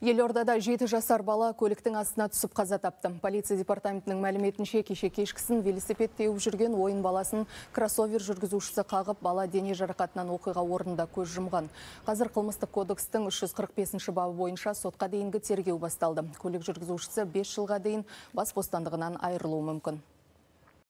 Елордада 7 жасар бала көліктің астына түсіп қаза тапты. Полиция департаментінің мәліметінше кеше кешкісін велосипед теуіп жүрген ойын баласын кроссовер жүргізушісі қағып, бала дене жарақатынан оқиға орнында көз жұмған. Қазір қылмыстық кодекстің 345 бабы бойынша сотқа дейінгі тергеу басталды. Көлік жүргізушісі 5 жылға дейін бас бостандығынан айырылуы мүмкін.